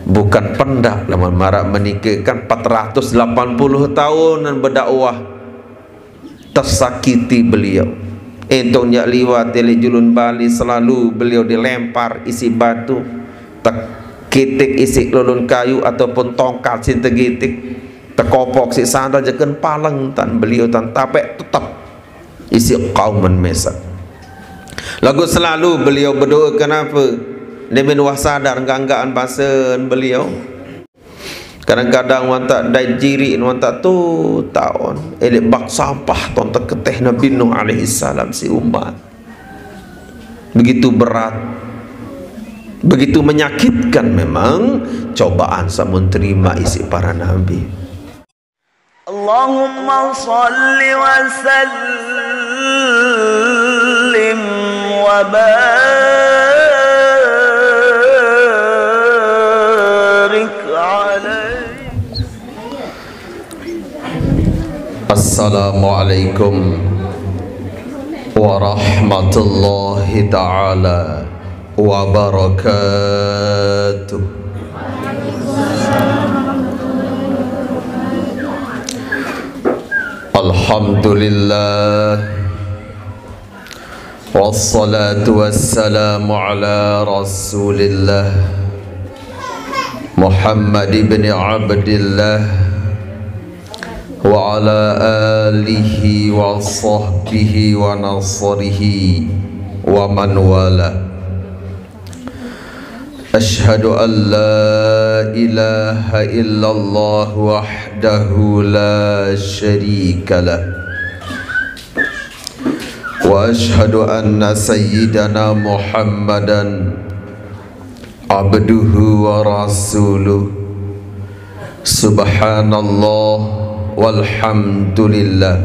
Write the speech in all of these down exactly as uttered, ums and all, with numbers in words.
Bukan pendak, lamun marak menike kan empat ratus delapan puluh taun berdakwah, tersakiti beliau. Entong jak liwat oleh julun Bali, selalu beliau dilempar isi batu, tekitik isi lulun kayu ataupun tongkat sin tegitik, tekopok isi sandal, jeken paleng tan beliau tan, tapi tetap isi kauman mesak. Lagu selalu beliau berdoa, kenapa? Demen wah sadar ganggaan basen beliau. Kadang-kadang wan tak dai jiri, wan tak tu taun. Elik bak sampah ton teketeh Nabi Nuh alaihi salam si umat. Begitu berat, begitu menyakitkan memang cobaan samun terima isi para nabi. اللهم صل وسلم وبارك عليه. Assalamualaikum warahmatullahi taala wabarakatuh. Alhamdulillah. Wassalatu wassalamu ala Rasulillah Muhammad ibn Abdillah wa ala alihi wa sahbihi wa nasrihi wa man wala. Ashhadu an la ilaha illallah wahdahu la syarika lah. Wa ashhadu anna sayyidana Muhammadan abduhu wa rasuluh. Subhanallah walhamdulillah.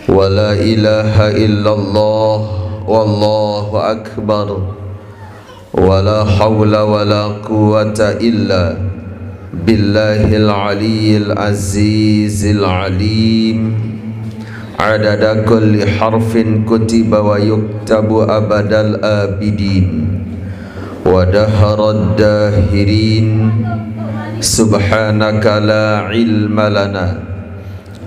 Wa la ilaha illallah wallahu akbar. Wa la haula wa la quwwata illa billahil aliyyil azizil alim. Adada kulli harfin kutiba wa yuktabu abadal abidin. Wa daharad dahirin. Subhanaka la ilma lana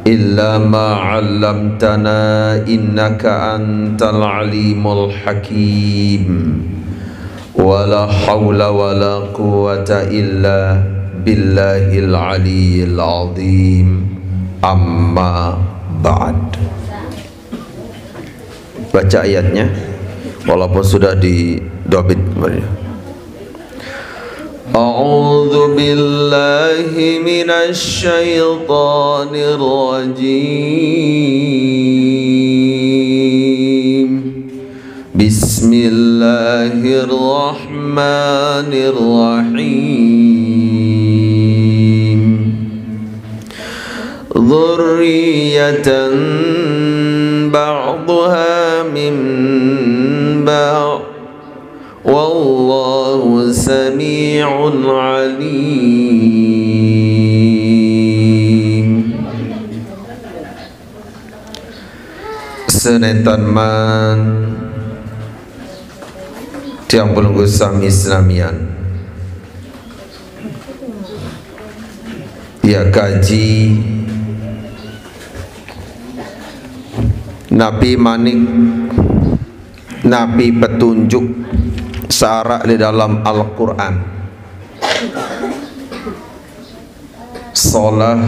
illa ma 'allamtana innaka antal alimul hakim. Wa la haula wa la quwwata illa billahil aliyyil azim. Amma ba'd. Baca ayatnya, walaupun sudah didobit kemarin. أعوذ بالله من الشيطان الرجيم. بسم الله الرحمن الرحيم. ذرية بعضها من بعض. Wallahu sami'un alim. Senentan man tiang pelungguh sami senamian. Ya kaji napi manik, napi petunjuk saarak di dalam Al-Quran. Solah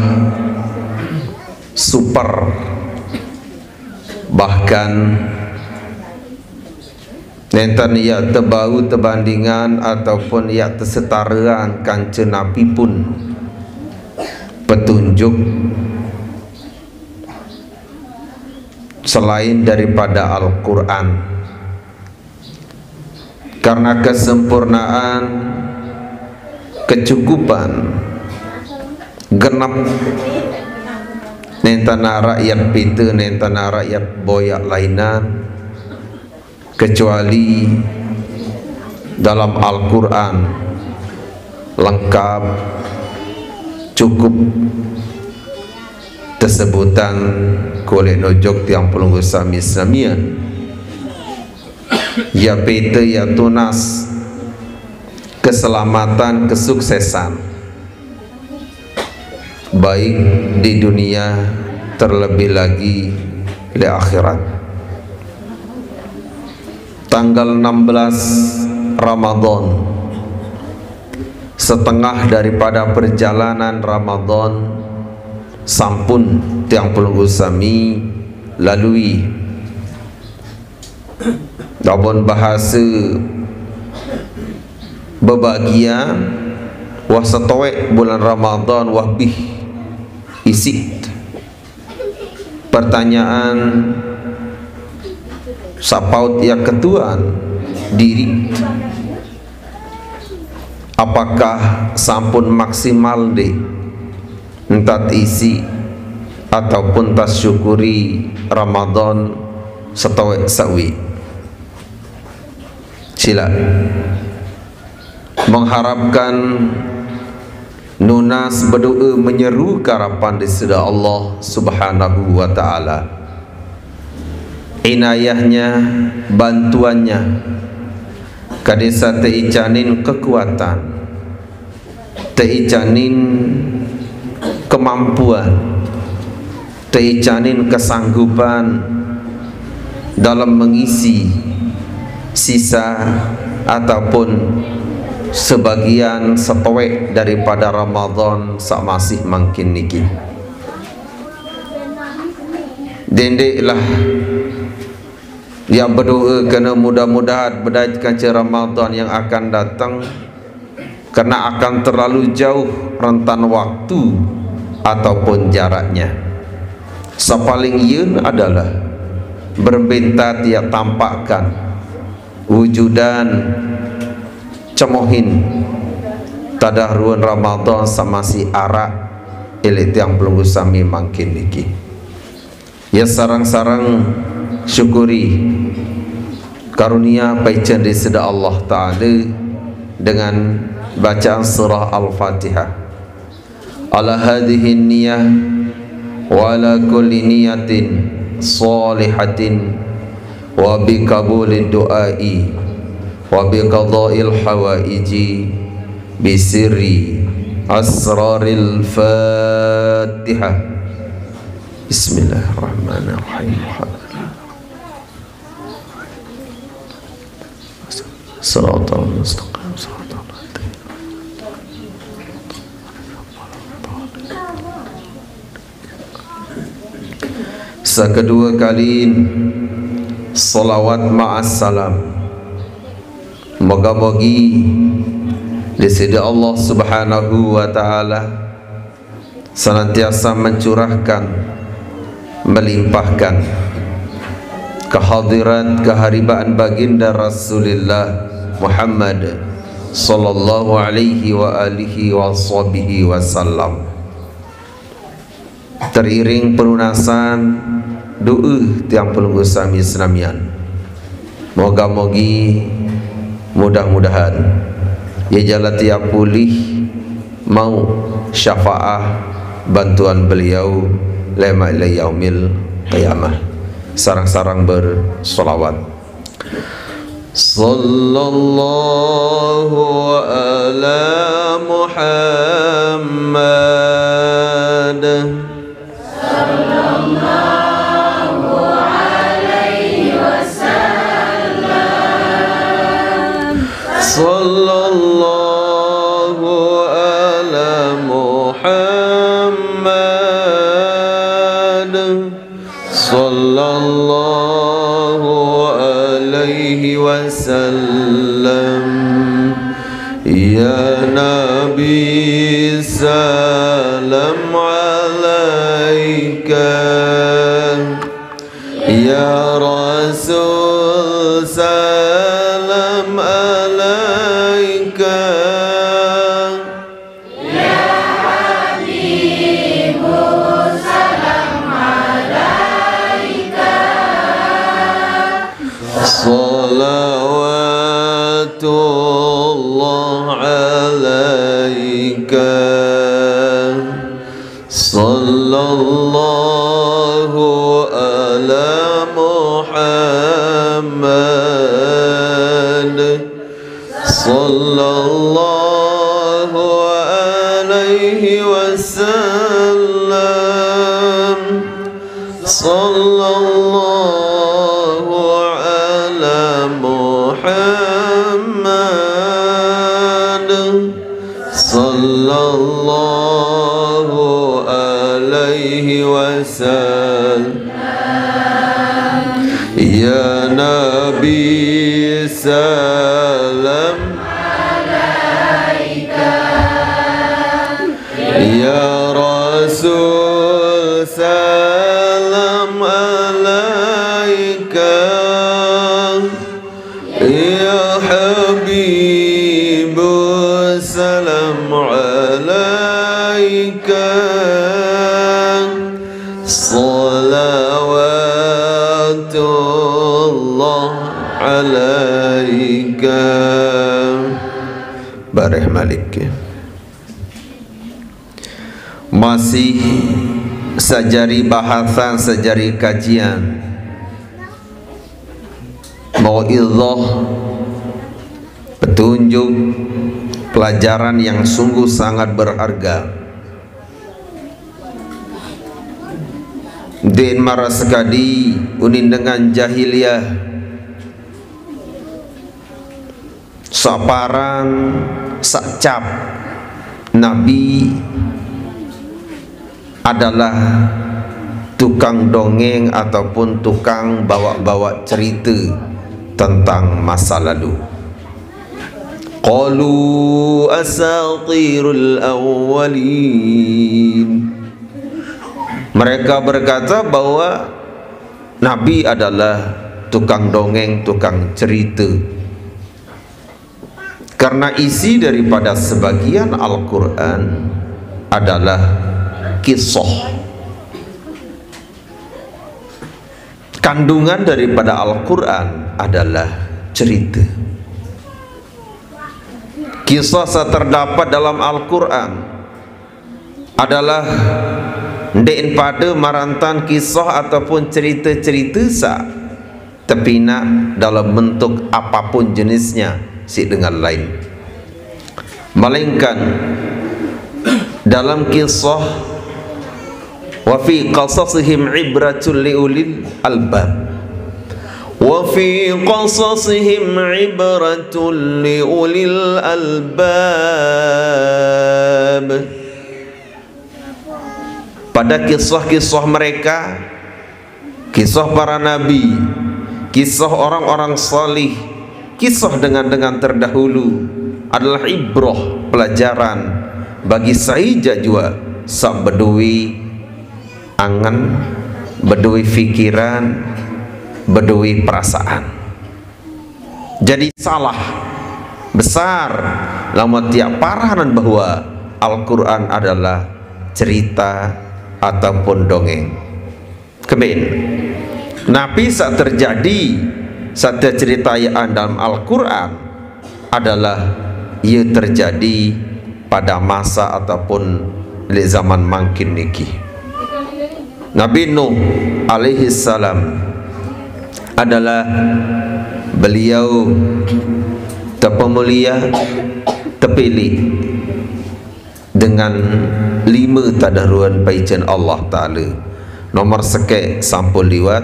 super, bahkan nenten ia tebau tebandingan ataupun ia tesetaraan kanca napi pun petunjuk selain daripada Al-Quran. Karena kesempurnaan, kecukupan, genep, nenten arak iat pita, nenten arak iat boyak lainan, kecuali dalam Al-Quran lengkap, cukup tesebutan kulit nujok tiang pelungguh sami senamian. Ya pita, ya tunas, keselamatan, kesuksesan, baik di dunia, terlebih lagi di akhirat. Tanggal enam belas Ramadan, setengah daripada perjalanan Ramadan sampun tiang pelungguh sami lalui. Lamun bahasa bebagian, wah satoek bulan Ramadan wah bih isik. Pertanyaan sapaut ia ketuan diri, apakah sampun maksimal deh entat isi ataupun tas syukuri Ramadan satoek sawi? Sila mengharapkan nunas berdoa menyeru karapan di sida Allah Subhanahu wa Ta'ala. Inayahnya, bantuannya, kadesa teicanin kekuatan, teicanin kemampuan, teicanin kesanggupan dalam mengisi sisa ataupun sebagian satoek daripada Ramadan sak masih mangkin niki. Dendeklah ia berdoa kena mudah-mudahan bedait kanca Ramadan yang akan datang, karena akan terlalu jauh rentan waktu ataupun jaraknya. Sapaling yeun adalah berbentat ia tampakkan wujudan cemohin tadah ruan Ramadan sak masih arak ilih tiang pelungguh sami mangkin niki. Ya, sarang-sarang syukuri karunia paican di sida Allah Ta'ala dengan bacaan surah Al-Fatihah. Ala hadhihi niyah wa ala kulli niyatin salihatin wa bi qabulid du'ai wa bi qadail hawaiji bi sirri asraril Fatihah. Bismillahirrahmanirrahim. Siratal mustaqim, siratal ladzina. Sekedua kali, salawat ma'as salam. Moga-mogi di sida Allah Subhanahu wa Ta'ala senantiasa mencurahkan, melimpahkan kehadirat keharibaan baginda Rasulillah Muhammad sallallahu alaihi wa alihi wa sahbihi wasallam. Teriring pelunasan doa tiang pelungguh sami senamian. Moga-mogi, mudah-mudahan ia jala tiap pulih mau syafaah bantuan beliau lema ila yaumil qiyamah. Sarang-sarang bersolawat. Sallallahu ala Muhammad. Sallallahu ala Muhammad. Sallallahu alaihi wasallam. Ya Nabi, salam alaika. Ya Rasul, salam alaika. Salawatullah alaika. Sallallahu ala Muhammad. صلى الله عليه وسلم. صلى الله على محمد. صلى الله عليه وسلم. يا نبي سلام عليك. يا رسول سلام عليك. يا حبيب سلام عليك. صلوات الله عليك. Bareh malik. Masih sajari bahasan, sajari kajian mau'izah, petunjuk, pelajaran yang sungguh sangat berharga. Din mara sekadi, unin dengan jahiliyah, saparan, sacap Nabi adalah tukang dongeng ataupun tukang bawa-bawa cerita tentang masa lalu. Qalu asatirul awwalin. Mereka berkata bahwa Nabi adalah tukang dongeng, tukang cerita. Karena isi daripada sebagian Al-Quran adalah kisah. Kandungan daripada Al-Quran adalah cerita. Kisah yang terdapat dalam Al-Quran adalah ndeqn pada marantan kisah ataupun cerita-cerita saq tepinak dalam bentuk apapun jenisnya siq dengan lain. Melainkan dalam kisah, wa fi qasasihim ibratul liulil albab. Wa fi qasasihim ibratul liulil albab. Pada kisah-kisah mereka, kisah para nabi, kisah orang-orang salih, kisah dengan-dengan terdahulu adalah ibrah, pelajaran bagi sai jaq juaq saq bedowe angen, bedowe pikiran, bedowe perasaan. Jadi salah besar lamun tiaq paranan bahwa Al-Quran adalah cerita ataupun dongeng. Kembin, napi saq terjadi, saq teceritayaan dalam Al-Quran adalah ie terjadi pada masa ataupun leq zaman mangkin niki. Nabi Nuh alaihi salam adalah beliau tepemulia, tepilih dengan lime tadahruan paicen Allah Taala. Nomor sekeq sampun liwat,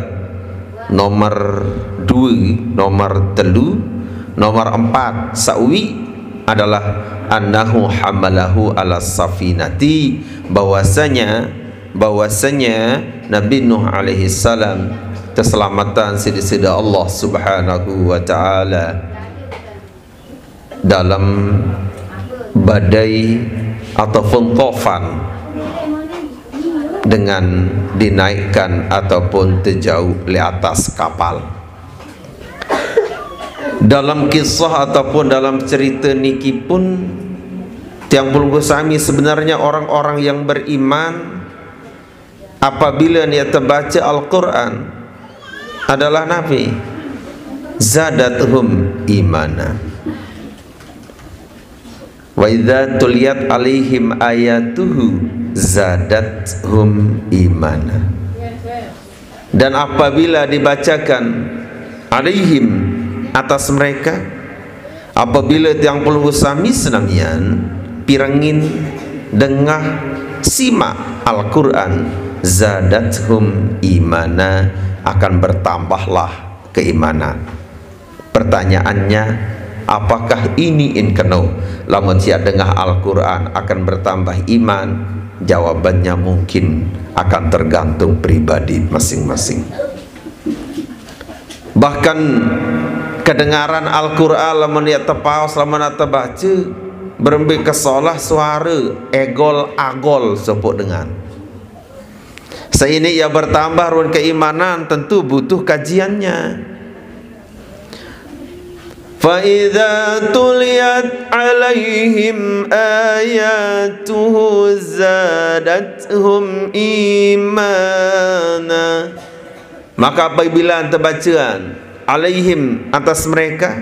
nomor due, nomor telu, nomor empat saq uiq adalah annahu hamalahu ala safinati, bahwasanya, bahwasanya Nabi Nuh alaihi salam teselametan siq Deside Allah Subhanahu wa Ta'ala dalam badai ataupun tofan dengan dinaikkan ataupun tejauq leq atas kapal. Dalam kisah ataupun dalam cerita niki pun, tiang pelungguh sami, sebenarnya orang-orang yang beriman, apabila ie tebace Al-Quran, adalah napi? Zadathum imana. Wa idza tuliyat alaihim ayatuhu zadathum imana. Dan apabila dibacakan alaihim, atas mereka, Apabila tiang pelungguh sami senamian pirengin, dengah, simak Al-Quran, zadathum imana, akan bertambahlah keimanan. Pertanyaannya, apakah ini in keno? Lamun siap dengah Al-Quran akan bertambah iman? Jawabannya mungkin akan tergantung pribadi masing-masing. Bahkan kedengaran Al-Quran lamun ia tepaos, lamun ia tebaca, berembe kesolah suara egol agol sepuk dengan. Seini ia bertambah run keimanan, tentu butuh kajiannya. Fa idza tuliyat alaihim ayatuhu zadathum imana. Maka apabila terbacaan alaihim, atas mereka,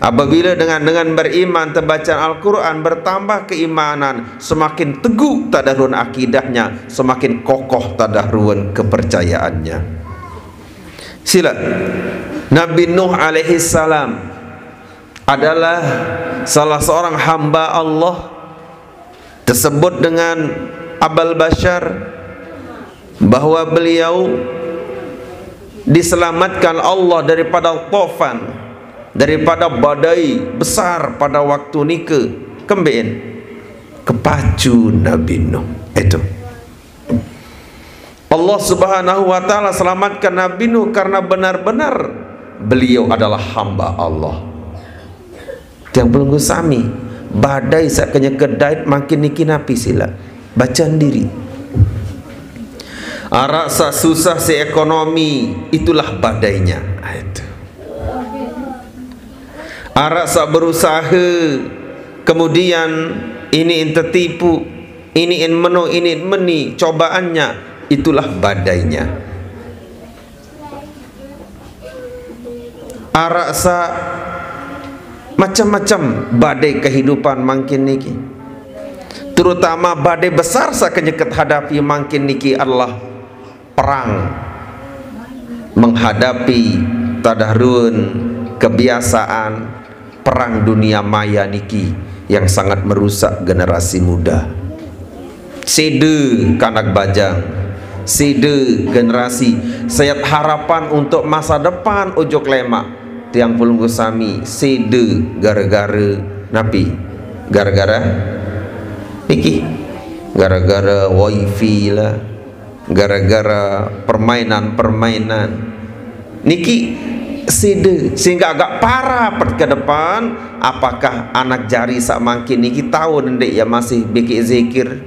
apabila dengan dengan beriman terbacaan Al-Quran, bertambah keimanan, semakin teguh tadahrun akidahnya, semakin kokoh tadahrun kepercayaannya. Sila, Nabi Nuh alaihi salam adalah salah seorang hamba Allah tersebut dengan Abal Bashar, bahwa beliau diselamatkan Allah daripada tofan, daripada badai besar pada waktu nika. Kembein? Kepacu Nabi Nuh. Itu Allah Subhanahu wa Ta'ala selamatkan Nabi Nuh karena benar-benar beliau adalah hamba Allah. Tiang pelungguh sami, badai sak kenyeke dait mangkin niki napi sila? Bacaan diri. Arak sak susah si ekonomi, itulah badainya. Ah, itu. Arak sak berusaha, kemudian ini in tertipu, ini in meno, ini in meni, cobaannya, itulah badainya. Arak sak macam-macam badai kehidupan mangkin niki. Terutama badai besar sak kenyeket hadapi mangkin niki adalah perang. Menghadapi tadahrun kebiasaan perang dunia maya niki yang sangat merusak generasi muda. Sida kanak bajang, sida generasi, sayat harapan untuk masa depan ujuk lemak. Tiang pelungguh sami, sida gara-gara napi? Gara-gara niki. Gara-gara wifi lah, gara-gara permainan-permainan niki sida, sehingga agak parah pet ke depan. Apakah anak jari sak mangkin niki tahu nende ia masih bikin zikir?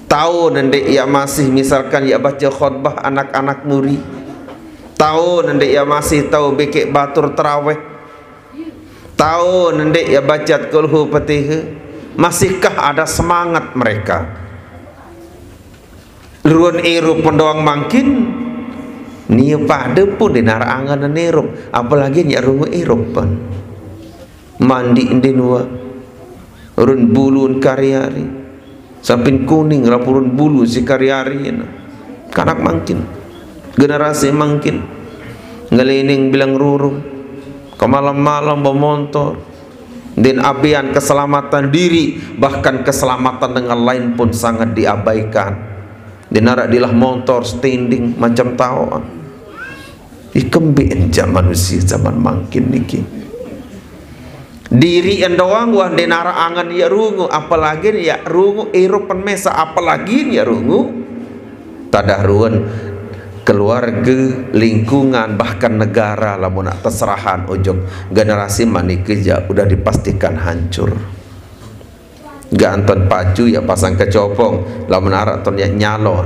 Tahu nende ia masih, misalkan, ia baca khutbah anak-anak muri? Tahu nende ia masih tahu bikin batur terawih? Tahu nende ia baca kulhu petiha? Masihkah ada semangat mereka? Ruan irup pun doang mangkin, nia pada pun dinar angan irup, apalagi nyak rungu irup pun. Mandi ndin wa, run bulun kari-ari, sampin kuning rapurun bulu si kari-ari na. Kanak mangkin, generasi mangkin, ngelining bilang ruru, kemalam-malam bermontor, dan abian keselamatan diri, bahkan keselamatan dengan lain pun sangat diabaikan. Dinarak dilah montor standing macam taoan. Ikembe enja manusia zaman mangkin niki. Diri endoang wah denara angan ya rungu, apalagi ya rungu irup pen mesa, apalagi ya rungu. Tadah ruan keluarga, lingkungan, bahkan negara lamun nak terserahan ujung generasi manike ja udah dipastikan hancur. Ganton pacu ya pasang kecopong, lamun arak ton ya nyalon.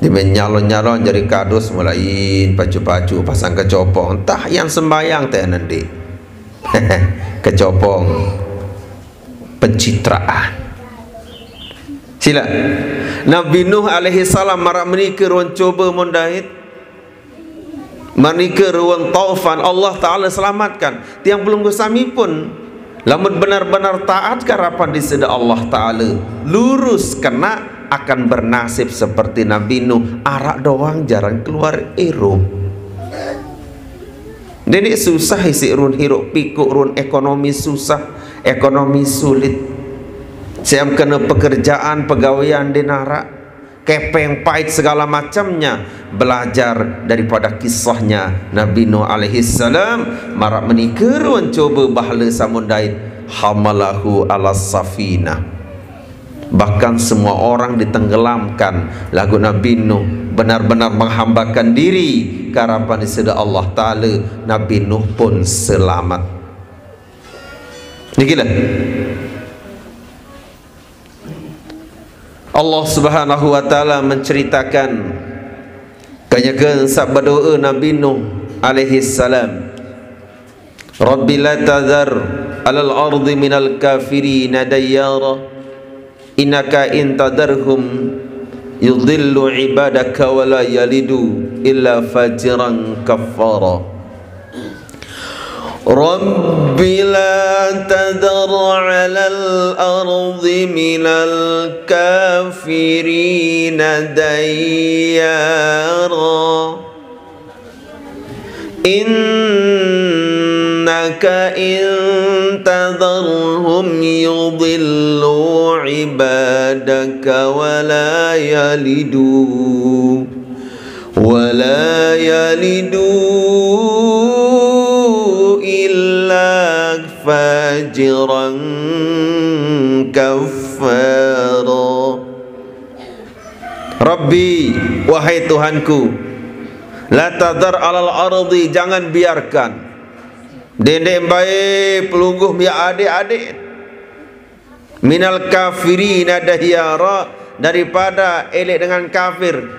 Dimen nyalon-nyalon jadi kadus, mulain pacu-pacu pasang kecopong. Entah yang sembayang teh nanti. Kecopong pencitraan. Sila. Nabi Nuh alaihi salam marak menika ruan coba mundait. Manika ruang taufan, Allah Ta'ala selamatkan. Tiang pelungguh sami pun, lamun benar-benar taat karapan di sida Allah Ta'ala, lurus kena, akan bernasib seperti Nabi Nuh, arak doang jarang keluar irup. Dene susah isi run hiruk pikuk, run ekonomi susah, ekonomi sulit. Siam kena pekerjaan, pegawaian dinarak, kepeng pait segala macamnya. Belajar daripada kisahnya Nabi Nuh alaihissalam, marak menikah run coba bahala samun dait, hamalahu ala safinah. Bahkan semua orang ditenggelamkan. Lagu Nabi Nuh benar-benar menghambakan diri karapan sida Allah Ta'ala. Nabi Nuh pun selamat. Nikilah. Allah Subhanahu wa Ta'ala menceritakan kanyakan sabda doa Nabi Nuh alaihissalam. Rabbi la tadhar alal ardi minal kafirina dayyara, innaka in tadharhum yudhillu ibadaka wa la yalidu illa fajiran kaffara. Rabbi la tadhar alal ardi minal kafirina dayyara, innaka in tadharhum yudhillu ibadaka wa la yalidu wa la yalidu illa fajiran kaffara. Rabbi, wahai Tuhanku, la tadhar alal ardi, jangan biarkan dende mbai pelungguh mia adik-adik, minal kafirina dayyara, daripada elek dengan kafir.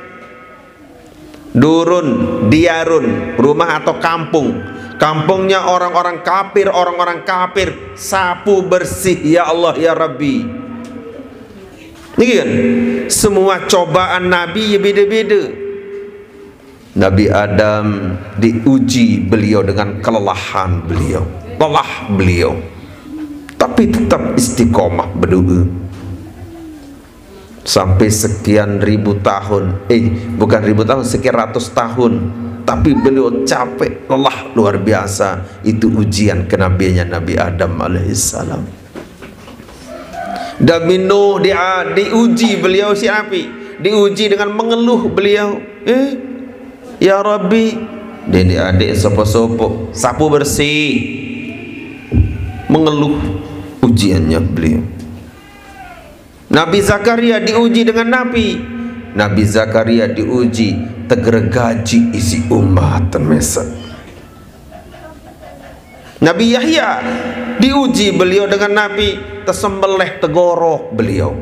Durun, diyarun, rumah atau kampung. Kampungnya orang-orang kafir, orang-orang kafir. Sapu bersih, ya Allah, ya Rabbi. Ini kan, semua cobaan Nabi ya beda-beda. Nabi Adam diuji beliau dengan kelelahan beliau, lelah beliau, tapi tetap istiqomah berdoa. Sampai sekian ribu tahun, eh, bukan ribu tahun, sekian ratus tahun, tapi beliau capek, lelah luar biasa. Itu ujian kenabiannya Nabi Adam alaihissalam. Nabi Nuh dia diuji beliau si api, diuji dengan mengeluh beliau. Eh, ya Rabbi, dia adik sopo-sopo, sapu bersih, mengeluh ujiannya beliau. Nabi Zakaria diuji dengan napi? Nabi Zakaria diuji tegergaji isi umat temesa. Nabi Yahya diuji beliau dengan napi? Tesembelih tegorok beliau.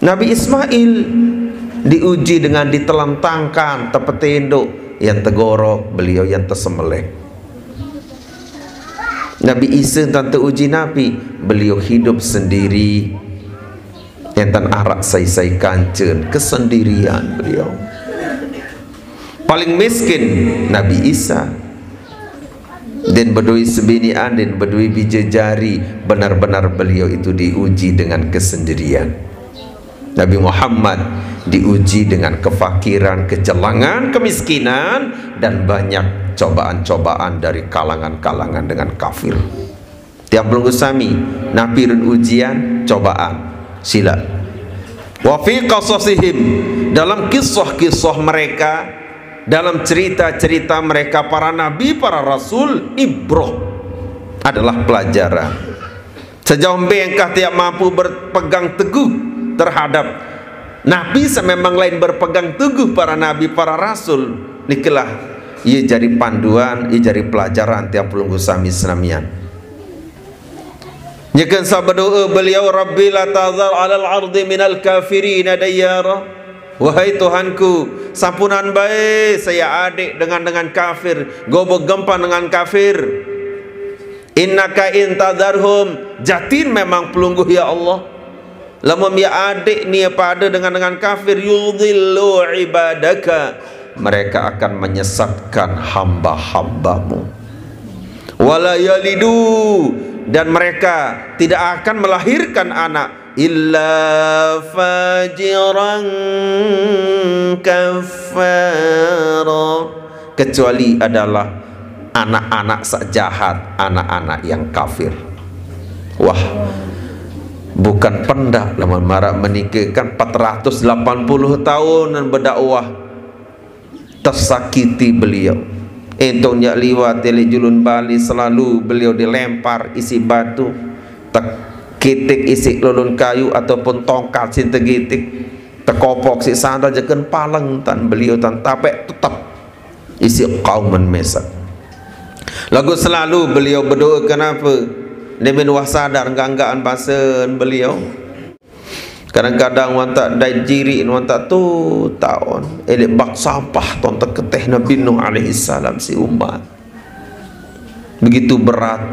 Nabi Ismail diuji dengan ditelentangkan tepetenduk, yang tegorok beliau, yang tesembelih. Nabi Isa tante uji napi? Beliau hidup sendiri. Enten arak sai-sai kancen, kesendirian beliau. Paling miskin Nabi Isa. Dan bedui sebini andin, bedui bija jari, benar-benar beliau itu diuji dengan kesendirian. Nabi Muhammad diuji dengan kefakiran, kecelangan, kemiskinan, dan banyak cobaan-cobaan dari kalangan-kalangan dengan kafir. Tiang pelunggu sami, napi run ujian, cobaan. Sila. Wa fi qasasihim, dalam kisah-kisah mereka, dalam cerita-cerita mereka, para nabi, para rasul, ibrah, adalah pelajaran. Sejauh mbe engkah tiang mampu berpegang teguh terhadap napi sememang lain berpegang teguh para nabi, para rasul, nikilah ia jadi panduan, ia jadi pelajaran tiang pelunggu sami senamian. Nyeken sabda doa beliau, Rabbi la tazar alal ardi minal kafirina dayyara. Wahai Tuhanku, sampunan bae saya adik dengan dengan kafir, gobo gempan dengan kafir. Innaka in tazarhum, jatin memang pelungguh ya Allah. Lamun mia adik nia pada dengan dengan kafir, yudhillu ibadaka, mereka akan menyesatkan hamba-hambamu. Wala yalidu, dan mereka tidak akan melahirkan anak, illa fajiran kafara, kecuali adalah anak-anak sak jahat, anak-anak yang kafir. Wah, bukan pendak lamun marak menikah kan empat ratus delapan puluh tahun dan berdakwah, tersakiti beliau. Entong nyak liwat elek julun Bali selalu beliau dilempar isi batu, tekitik isi lulun kayu ataupun tongkat sin tegitik, tekopok si sandal jeken paleng tan beliau tan tapek tetap isi kauman mesak. Lagu selalu beliau berdoa kenapa? Demen wah sadar ganggaan basen beliau. Kadang-kadang wan tak dai jiri wan tak tu taon elek bak sampah ton teketeh Nabi Nuh alaihi salam si umat. Begitu berat,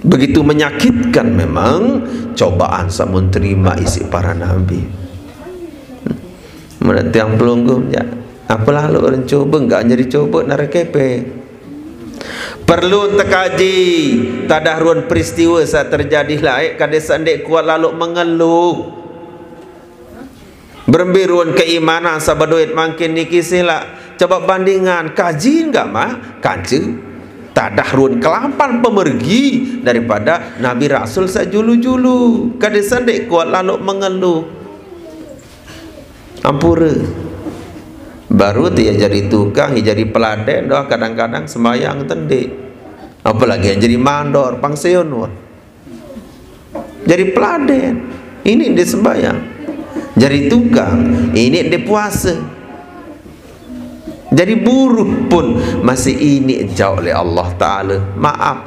begitu menyakitkan memang cobaan samun terima isi para nabi. Menanti yang pelungguh ya. Apalah lu orang coba enggak jadi coba narakepe. Perlu tekaji tadah ruan peristiwa saat terjadi laik kada sendek kuat lalu mengeluh. Berembi ruan keimanan sabaduit mangkin niki sila. Coba bandingan kaji enggak mah kanca tadah ruan kelapan pemergi daripada Nabi Rasul sajulu-julu. Kada sendek kuat lalu mengeluh. Ampura. Baru tu ia jadi tukang, ia jadi peladen doh kadang-kadang sembahyang tendik. Apalagi yang jadi mandor, pangseon wah. Jadi peladen. Ini dia sembahyang. Jadi tukang, ini dia puasa. Jadi buruh pun masih ini jauh oleh Allah Ta'ala. Maaf.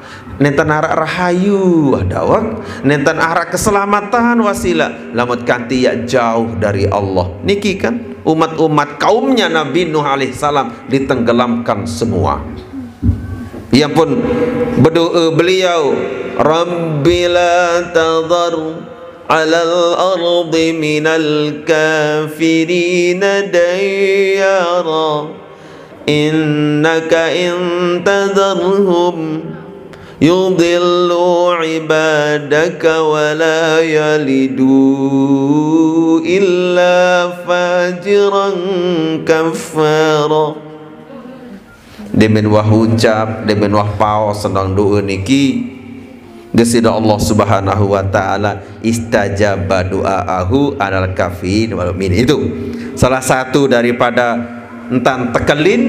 Nenten arak rahayu dawak, nenten arak keselamatan wasila, lamun kanti ia jauh dari Allah. Niki kan umat-umat kaumnya Nabi Nuh alaihissalam ditenggelamkan semua. Ia pun berdoa beliau, Rabbi la tadhar alal ardi minal kafirina dayyara. Innaka in tadharhum yudillu ibadaka wa la yalidu illa fajiran kaffara. Demen wah ucap, demen wah paos senang doa niki. Gesida Allah Subhanahu wa Ta'ala istajaba du'aahu alal kafirin wal mu'minin. Itu salah satu daripada entan tekelin,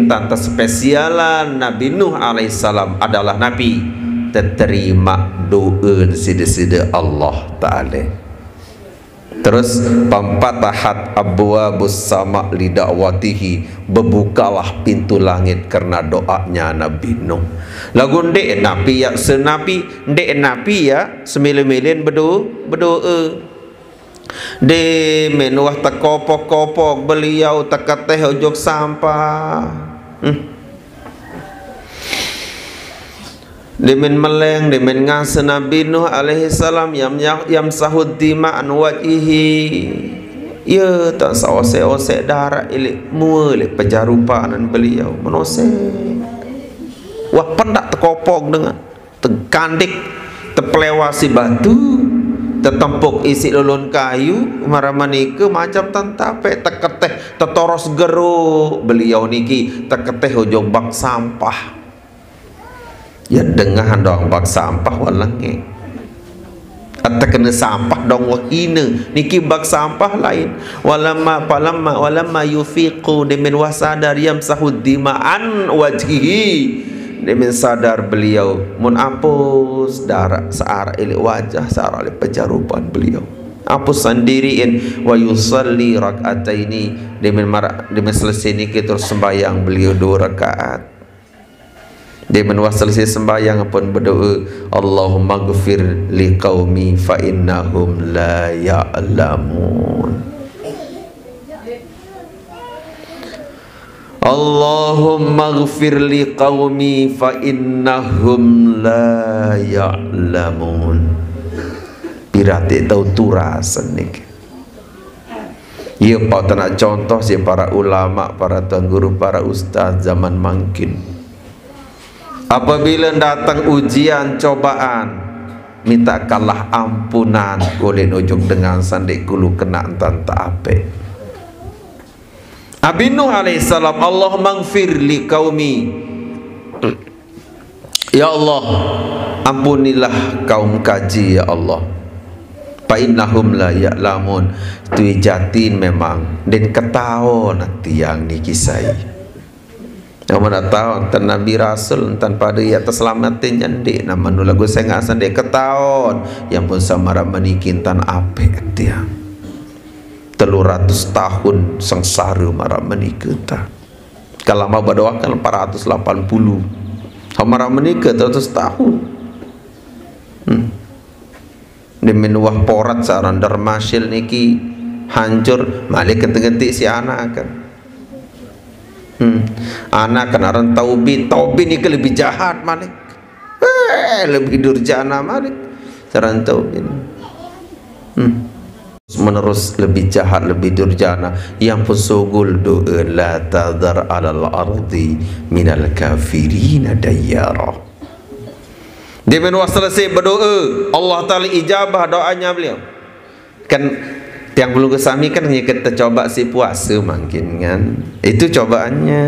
entan terspesialan Nabi Nuh alaihissalam adalah Nabi terterima doa sida-sida Allah Ta'ala. Terus, pampatahat abwabus sama li da'watihi, berbukalah pintu langit karena doanya Nabi Nuh. Lagu ndek napi ya senapi, ndek napi ya semilin-milin bedo bedoa. Demen wah tekopok-kopok beliau teketeh ujung sampah. Hmm. Demen meleng, demen ngasa Nabi Nuh alaihissalam yam yam sahud dima an wajhihi. Ya, tak saosek-osek darah ilik mua ilik pejarupanan beliau menosek. Wah pendak tekopok dengan tekandik, tepelewa si batu, tetempuk isi lulun kayu, maramanika macam tentape teketeh tetoros gero beliau niki teketeh ujung bak sampah. Ya dengah dong bak sampah walenge. Ata kena sampah dong wahina. Niki bak sampah lain. Walamma palamma walamma yufiqu demen wah sadar yamsahu dima an wajhihi. Demen sadar beliau mun apus darah searah ilik wajah searah ilik pejarupan beliau. Apus sendiriin wa yusalli rak'ataini demen marak demen selesai niki terus sembahyang beliau dua rakaat. Demen wah selesai sembahyang pun berdoa, Allahumma gfir li qaumi fa innahum la ya'lamun. Allahumma gfir li qaumi fa innahum la ya'lamun. Pirati tahu turas niki. Ia pau tenak contoh si para ulama, para tuan guru, para ustaz zaman mangkin. Apabila datang ujian cobaan, minta kalah ampunan kulit ujung dengan sandik kulu kena entan tak apik. Nabi Nuh alaihissalam, "Allahumma gfir li qaumi." Ya Allah, ampunilah kaum kaji, ya Allah. "Fa innahum la ya'lamun." Tui jatin memang, ndeqn ketaon tiang niki sai. Amun ata wonten nabi rasul, entan pade ya teselamatin nyandik, namun lagu sengaq saq ndeq ketaon, ya ampun, saq maraq meniki entan ape tiang. Telu ratus tahun sengsare maraq menike ta. Kalau mau berdoa kan empat ratus delapan puluh. Sama maraq menike telu ratus tahun. Hmm. Demi nuwah porat saran dermasil niki hancur, malik ketik-ketik si anak kan. Hmm. Anak kan aran Taubin, Taubin niki lebih jahat malik. Eh, lebih durjana malik. Saran Taubin. Hmm. Menerus lebih jahat, lebih durjana. Yang pun sugul doa, "La tadar alal ardi minal kafirina dayyara." Dia menua selesai berdoa, Allah Ta'ala ijabah doanya beliau. Kan tiang pelungguh sami kan hanya kita coba si puasa mungkin kan. Itu cobaannya.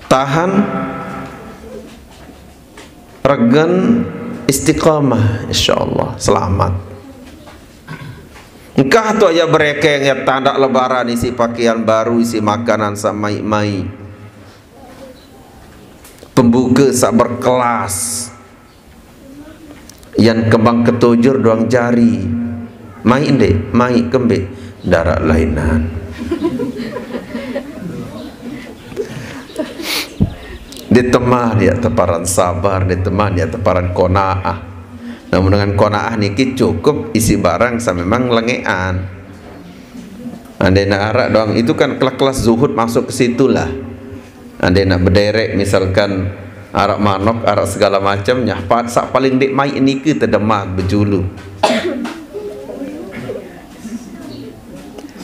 Tahan, regen, istiqamah, insyaallah selamat. Engkah tu aja berekeng ya tanda lebaran, isi pakaian baru, isi makanan saq maiq-maiq. Pembuke saq berkelas. Yan kembang ketojor doang jari. Maiq ndeq, maiq kembeq, ndaraq lainan. Ndeq teman ya teparan sabar, ndeq teman ya teparan qanaah. Namun dengan qanaah niki cukup isi barang saq memang lengeqan. Andai nak araq doang, itu kan kelas-kelas zuhud masuk ke situlah. Andai nak bederek, misalkan araq manok, araq segala macam, nyah, pa-, saq paling ndeq maiq nike tedemak bejulu.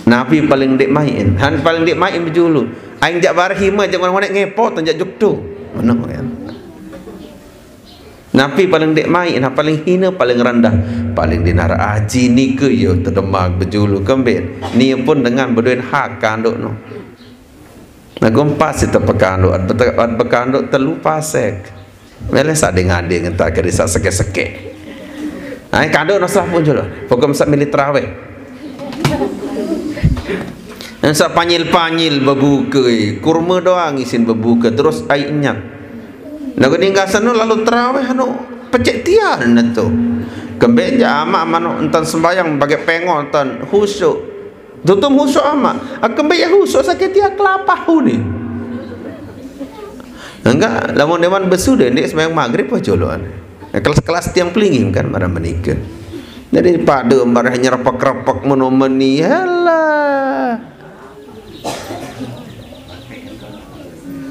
Napi paling ndeq maiq? Han paling ndeq maiq bejulu. Aing jaq bareh ime jaq ngoneq-ngoneq ngepot, jaq juk tu. Menoq kan. Napi paling ndeq maiq, nah paling hine, paling rendah, paling ndeq naraq aji nike, yo tedemak bejulu kembeq. Nie pun dengan bedoen hak kandoq no. Nah, gumpas ite pekandoq, at bete-, at bekandoq telu pasek. Mele saq deng-adeng entar keri saq sekeq-sekeq. Nah, kandoq no sah pun jelo. Pokoq saq mele terawih. Saq panyil-panyil bebuke, kurme doang isin bebuke, terus aiq nyat. Nah, guni gasan no lalu terawih anu pecek tian nentu. Kembeq jaq amaq manuk entan sembayang bageq pengol entan khusyuk. Tutum khusyuk amaq. Kembeq ya khusyuk sakit tian kelapah uni. Enggak, lamun dewan besu deh, ndeq sembayang maghrib apa joloan. Kelas-kelas tiang pelingim kan maraq menike. Jadi pade maraq nyerepek-repek meno meni, halah.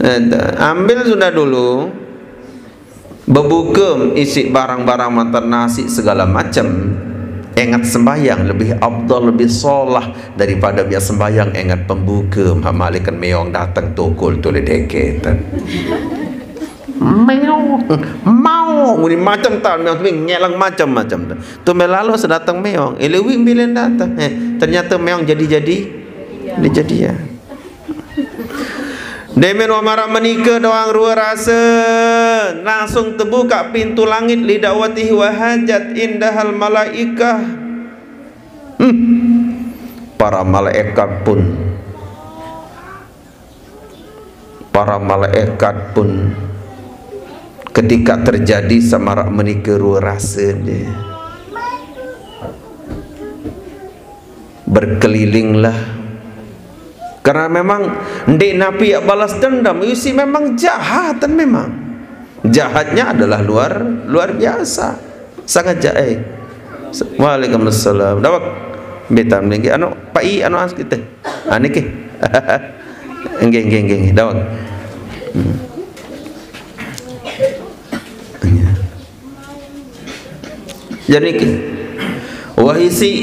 Eh, ambil sudah dulu. Bebukem isiq barang-barang mantan nasiq segala macem. Engat sembayang lebih afdal, lebih solah daripada miaq sembayang engat pembuke, malikan meong dateng tokol tole deketen. Meong, mau, muni macem tan, meong tapi ngeleng macem-macem. Tu melalo sedateng meong, ilewi mbilen dateng. Eh, ternyata meong jadi-jadi, dijadian. Demen wa maraq menike doang rue rase, langsung tebukaq pintu langit, li da'watihi wa hajat indahal malaikah. Hmm. Para malaikat pun, para malaikat pun ketika terjadi saq maraq menike rue rase, ndeq. Berkelilinglah. Karena memang ndeq napi yaq balas dendam, isiq memang jahatan memang. Jahatnya adalah luar, luar biasa. Sangat jahat. Waalaikumsalam. Dawek. Betan niki anu, Pak I, anu as kita. Ah, niki. Nggih, nggih, nggih, nggih. Dawek. Hmm. Iya. Jadi ki-, wah, isiq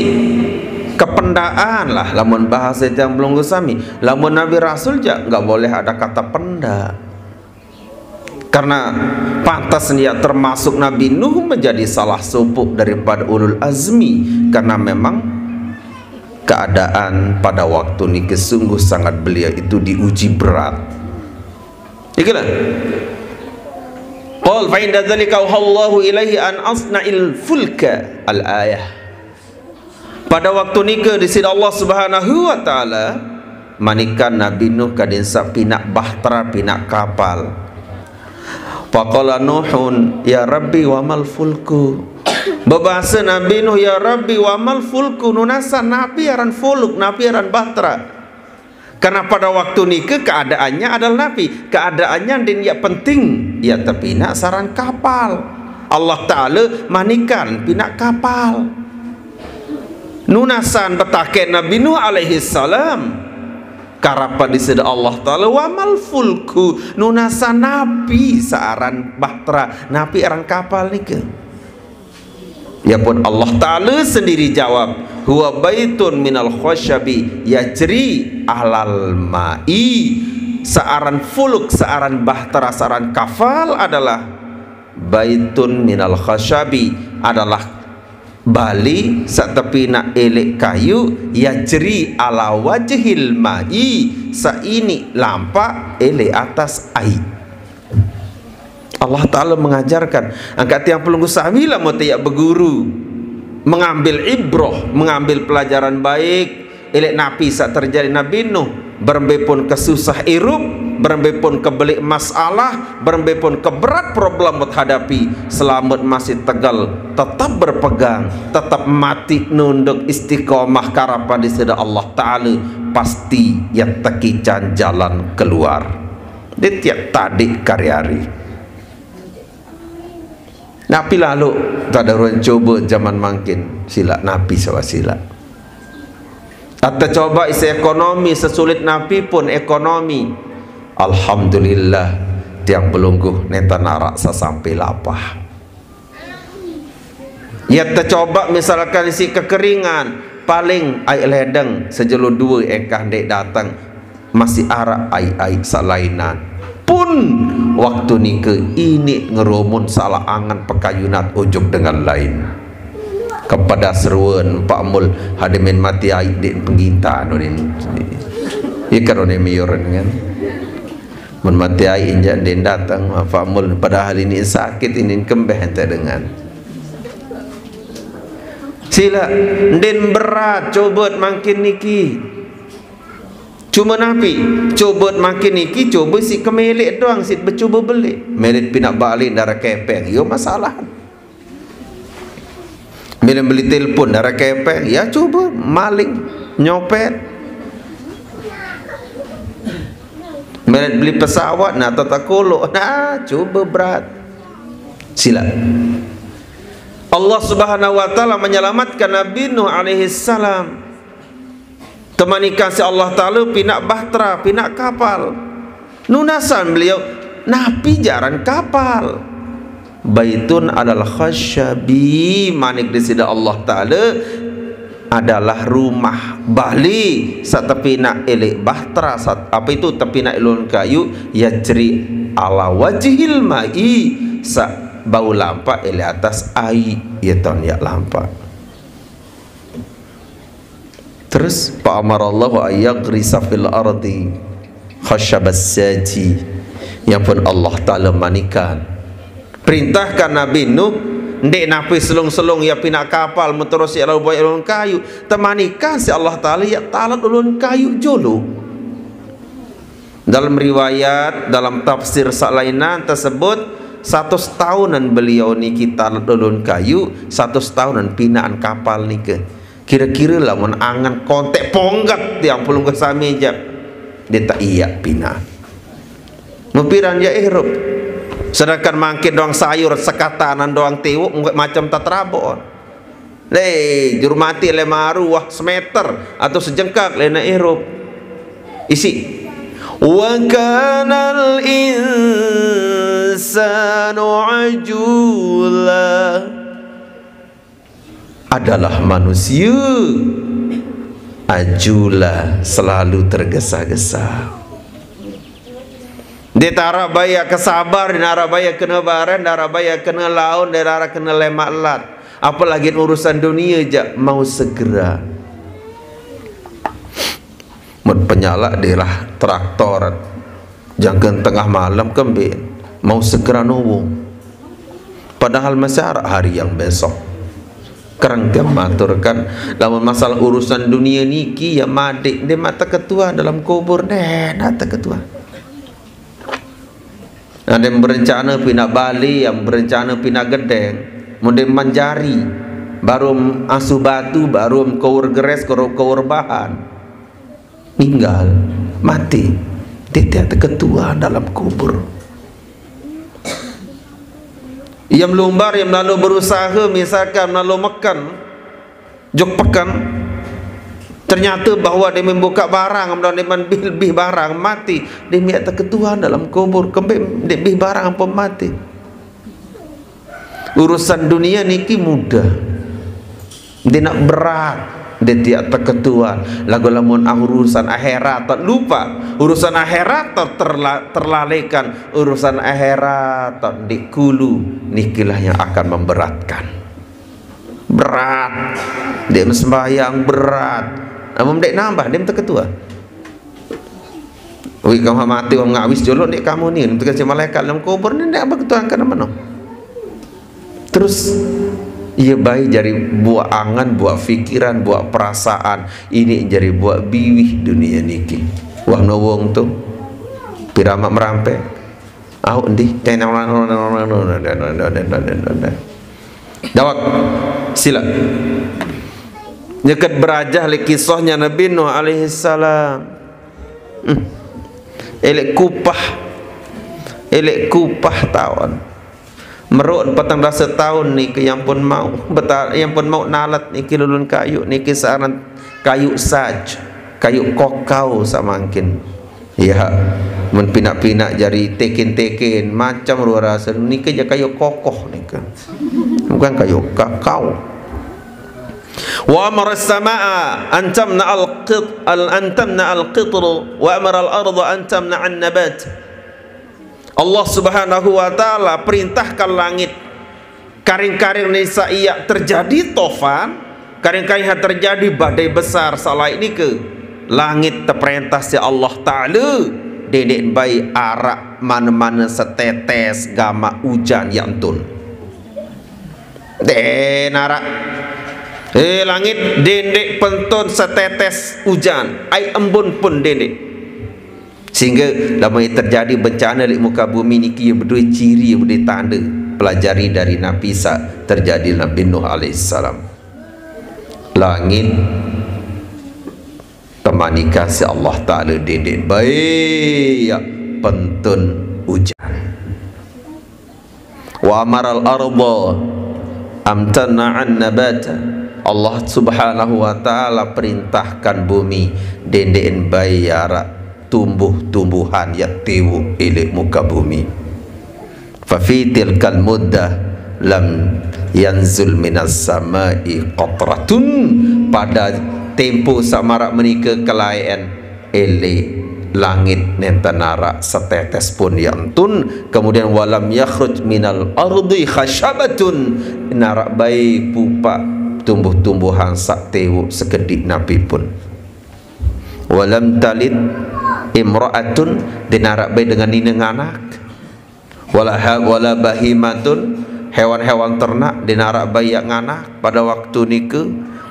kependaqan lah, lamun bahase tiang pelungguh sami. Lamun nabi rasul jaq nggak boleh ada kata pendaq. Karena pantas dia termasuk Nabi Nuh menjadi salah sopoq daripada ulul azmi, karena memang Keadaan pada waktu niki sungguh sangat beliau itu diuji berat. Ikilah. Qal fa inda dzalika auhallahu ilaihi an asna'il fulka al-ayah. Pada waktu nika di sini Allah Subhanahu wa taala manikan Nabi Nuh kadin sa pinak bahtera, pinak kapal. Faqala Nuhun, "Ya Rabbi, wa mal fulku?" Bebahasa Nabi Nuh, "Ya Rabbi, wa mal fulku?" Nunasa napi aran fuluk, napi aran bahtera. Karena pada waktu nika keadaannya adalah napi? Keadaannya din ya penting, ya tepinak saran kapal. Allah Taala manikan pinak kapal. Nunasan betaken Nabi Nuh alaihi salam. Karapa disida Allah Taala, "Wa mal fulku?" Nunasan napi saaran bahtera, napi aran kapal nika? Ya pun Allah Taala sendiri jawab, "Huwa baitun minal khasyabi yajri alal ma'i." Saaran fuluk, saaran bahtera, saaran kapal adalah baitun minal khasyabi, adalah bali sa tepinak elek kayu, yajri ala wajhil ma'i, sa ini lampak elek atas ai. Allah Taala mengajarkan, angkat tiang pelungguh sami lah mau tiap berguru, mengambil ibroh, mengambil pelajaran baik, elek napi sa terjadi Nabi Nuh, berembe pun kesusah irup, berembe pun kebelik masalah, berembe pun keberat problem buat hadapi, selamat masih tegal, tetap berpegang, tetap mati nunduk istiqomah karapan disida Allah Taala, pasti ya tekican jalan keluar. Di tiap tadi kari-ari. Napi lalu tak ada orang cuba zaman mangkin sila, napi sawa sila. Atau coba isi ekonomi sesulit napi pun ekonomi. Alhamdulillah, tiang pelungguh neta narak sasampai lapah. Ya tercoba misalkan isi kekeringan, paling ai ledeng sejelo dua engkah dek datang, masih arak ai-ai salainan. Pun waktu nika ini ngerumun salah angan pekayunat ujuk dengan lain. Kepada seruan Pak Mul hadimin mati ai dek penggintan unin. Ikan unin miuran kan. Mun mati ai injak den datang Pak Mul, padahal ini sakit, ini kembeh ente dengan. Sila, den berat cobot mangkin niki. Cuma napi? Cobot mangkin niki, coba si kemelik doang, si becoba beli. Melit pinak balik darah kepeng, yo masalah. Bila beli telepon darah kepeng, ya coba maling, nyopet. Melit beli pesawat, nah tata kolok, nah coba berat. Sila. Allah Subhanahu wa Taala menyelamatkan Nabi Nuh alaihi salam. Temanikan si Allah Taala pinak bahtera, pinak kapal. Nunasan beliau, napi jaran kapal? Baitun alal khasyabi, manik disida Allah Taala, adalah rumah bali sa tepinak elek bahtera, sa, apa itu, tepinak ilun kayu, yajri ala wajhil ma'i, sa bau lampak elek atas ai, ya ton ya lampak. Terus, fa amarallahu ayyaghrisa fil ardi khasyabas saji. Yang pun Allah Taala manikan, perintahkan Nabi Nuh, ndek napi selung-selung ya pinak kapal, meterus ya lalu buat ilun kayu. Temanikan si Allah Taala ya talat ulun kayu jolo. Dalam riwayat, dalam tafsir salainan tersebut, satu tahunan beliau niki talat ulun kayu, satu tahunan pinaan kapal nika. Kira-kira lamun angan kontek ponggat tiang pelungguh sami jap. Dia tak iya pinaan. Mupiran ya ihrup. Sedangkan mangkin doang sayur sekatanan doang tiwuk macam tak terabon. Le, juru mati le maru wah semeter atau sejengkak le na ihrup. Isi. Wa kanal insanu ajula. Adalah manusia ajula, selalu tergesa-gesa. Dia tarak baya kesabar, dia narak baya kena baran, dia narak baya kena laun, dia narak kena lemak lat. Apalagi urusan dunia ja mau segera. Penyalak dilah traktor, jangka tengah malam kembe mau segera nowong. Padahal masih araq hari yang besok. Kereng tiang maturkan, lamun masalah urusan dunia niki ya madik, ndeq maq teketuan dalam kubur, ndeq naq teketuan. Ada yang berencana pindah Bali, yang berencana pindah Gedeng, mun ndeqman jari, baruq asu batu, baruq kowor geres, kowor, kowor bahan. Ninggal, mati. Ndeq teketuan dalam kubur. Ia melumbar, ia melalu berusaha, misalkan melalu meken, jok peken, ternyata bahwa dia membuka barang, dia membih, bih barang, mati. Ndeq miaq teketuan dalam kubur, kembe ndeq bih barang ampun mati. Urusan dunia niki mudah. Ndeq naq berat, ndeq tiaq teketuan. Laguq lamun ah urusan akhirat, lupa. Urusan akhirat ter-, terla-, terlalaikan. Urusan akhirat ndeq kulu, nikilah yang akan memberatkan. Berat. Ndeq sembahyang berat. Amun ndeq nambah, ndeq teketuan. Wi, kamu mati, wong ngawis jolo ndeq kamu ni, ndeq si malaikat dalam kubur ni, ndeq beketuan kena meno. Terus, iya bae jari buaq angen, buaq pikiran, buaq perasaan, ini jari buaq biwih dunia niki. Wah, nowong tu. Piramaq merampek. Au endi? Dawak. Sila. Nyeket berajah leq kisahnya Nabi Nuh alaihissalam. Hmm. Eleq kupah. Eleq kupah taun. Meruq petang dase taun niki yang pun mau. Beta-, yang pun mau nalet niki lulun kayu niki searan kayu saj, kayu kokau samangkin. Ya, mun pinaq-pinaq jari teken-teken, macam luar rase. Nike jaq kayu kokoh nike. Bukan kayu kakao. Wa amara as-samaa'a an tamna'a al-qit-, al-, an tamna'a al-qitr, wa amara al-arda an tamna'a an-nabat. Allah Subhanahu wa Ta'ala perintahkan langit, karing-karing nisa iaq terjadi tofan, karing-karing ha terjadi badai besar, saq laeq nike, langit teperentah siq Allah Ta'ala, dendeq bae araq mane-mane setetes gamaq ujan yaq entun. Ndeq naraq. Eh, langit, dendeq pentun setetes ujan, aiq embun pun dendeq. Sehingga lamun terjadi bencana leq muka bumi niki, ie bedoe ciri, ie bedoe tande. Pelajari dari napi saq terjadi Nabi Nuh alaihissalam. Langit temanikah siq Allah Ta'ala, dendeq bae yaq pentun ujan. Wa amaral arda am tana'an nabata. Allah Subhanahu wa Ta'ala perintahkan bumi, dendeqn bae araq tumbuh-tumbuhan yaq tiwoq leq muka bumi. Fa fi tilkal muddah lam yanzul minas sama'i qatratun. Pada tempo saq maraq menike kelaeqn, leq langit nenten araq setetes pun yaq entun. Kemudian, walam yakhruj minal ardi khasyabatun, ndeq araq bae pupaq tumbuh-tumbuhan saq tiwoq sekediq napi pun. Walam talid imra'atun, ndeq araq bae dengan nine nganak. Wala ha-, wala bahimatun, hewan-hewan ternak, ndeq araq bae yaq nganak pade waktu nike.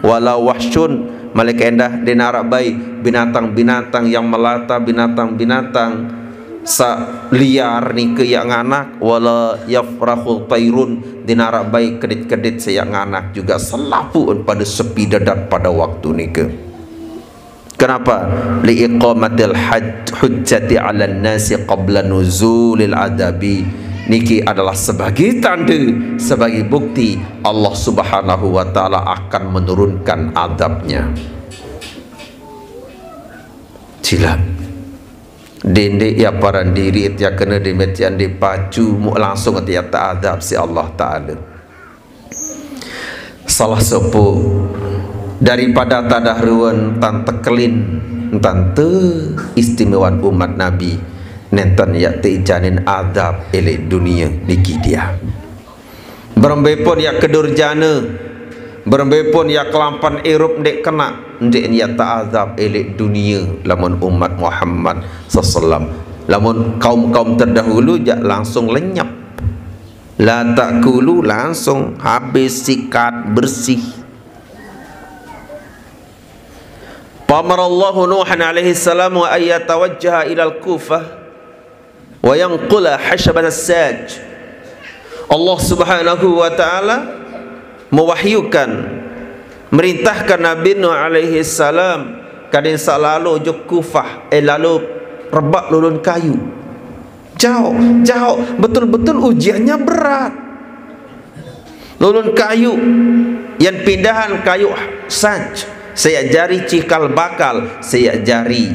Wala wahsyun, malik endah ndeq araq bae binatang-binatang yang melata, binatang-binatang saq liar nike yaq nganak. Wala yafrahu tairun, ndeq araq bae kedit-kedit saq yaq nganak juga, selapuq pade sepi dedat pade waktu nike. Kenapa? Liiqamatil haj-, hujjati 'alan nasi qabla nuzulil adabi. Niki adalah sebagai tande, sebagai bukti Allah Subhanahu wa Ta'ala akan menurunkan adabnya. Silaq. Dendeq yaq paran diriq tiang kene, demetian ndeq pacu muq langsung tiang teadab siq Allah Ta'ala. Salah sopoq daripada tadah ruen tan tekelin, tan teistimewan umat Nabi, nenten yaq teicanin adab leq dunie niki tiang. Berembe pun yaq kedurjane, Berembe pun ya kelampan irup ndeq kena, ndeq ya teazab eleq dunie lamun umat Muhammad sallallahu alaihi wasallam. Lamun kaum-kaum terdahulu jak langsung lenyap. La takulu, langsung habis, sikat, bersih. Fa amarallahu Nuhan alaihi salam wa ayyatawajjaha ilal Kufah wa yanqula hasyabatas saj. Allah Subhanahu wa taala mewahyukan, merintahkan Nabi Nuh alaihi salam kadin saq lalo ojok Kufah, eh, lalo rebaq lolon kayu. Jaoq, jaoq, betul-betul ujiannya berat. Lolon kayu, yan pindahan kayu saj, saq jari cikal bakal, saq jari,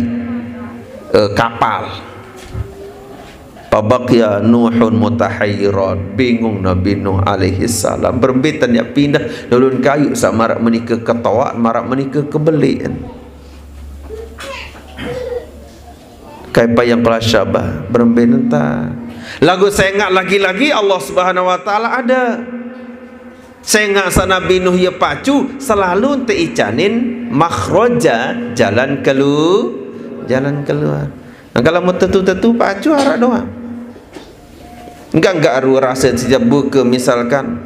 eh, kapal. Fabaqya Nuhun mutahayyiran, bingung Nabi Nuh alaihi salam. Berembe tan yaq pindah lolon kayu saq maraq menike ketoaq, maraq menike kebeleqn. Kaifa yanqula syabah, berembe nenta. Laguq sengaq lagi-lagi Allah Subhanahu wa taala ada. Sengaq saq Nabi Nuh ye pacu, selalu nte icanin makhraja, jalan kelu-, jalan keluar. Nah, kalau mau tetu-tetu pacu araq doang. Enggak, enggak aru rase sitiap buke, misalkan,